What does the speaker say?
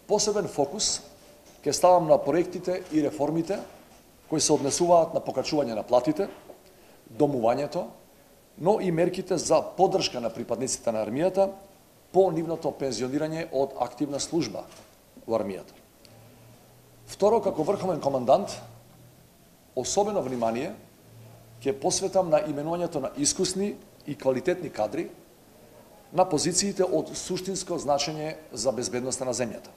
посебен фокус ќе ставам на проектите и реформите кои се однесуваат на покачување на платите, домувањето, но и мерките за поддршка на припадниците на армијата по нивното пензионирање од активна служба во армијата. Второ, како врховен командант, особено внимание ќе посветам на именувањето на искусни и квалитетни кадри на позициите од суштинско значење за безбедноста на земјата.